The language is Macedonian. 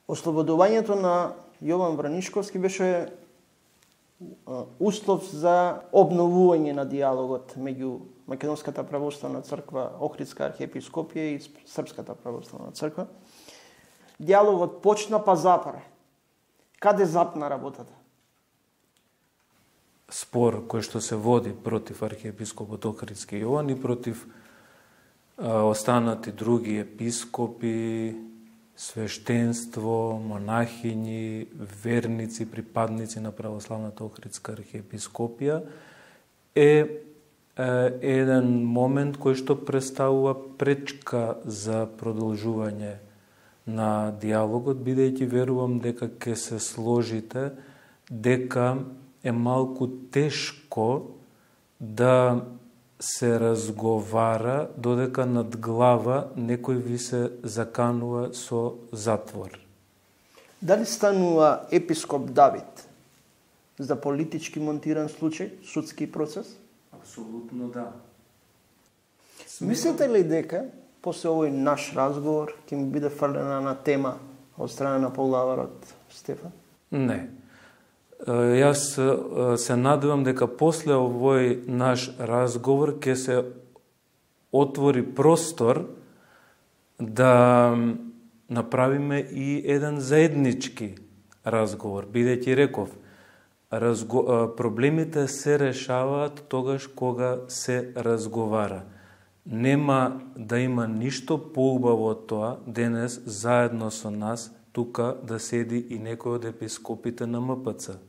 Ослободувањето на Јован Вранишковски беше услов за обновување на диалогот меѓу Македонската православна црква, Охридска архиепископија и Српската православна црква. Диалогот почна па запре. Каде запна работата? Спор кој што се води против архиепископот Охридски Јован и против останати други епископи, свештенство, монахињи, верници, припадници на православната Охридска архиепископија е еден момент кој што представува пречка за продолжување на диалогот, бидејќи верувам дека ќе се сложите дека е малку тешко да се разговара додека над глава некој ви се заканува со затвор. Дали станува епископ Давид за политички монтиран случај, судски процес? Апсолутно да. Мислите ли дека после овој наш разговор ќе ми биде фрлена на тема од страна на поглаварот Стефан? Не. Јас се надевам дека после овој наш разговор ќе се отвори простор да направиме и еден заеднички разговор, бидејќи реков, проблемите се решаваат тогаш кога се разговара. Нема да има ништо поубаво од тоа денес заедно со нас тука да седи и некој од епископите на МПЦ.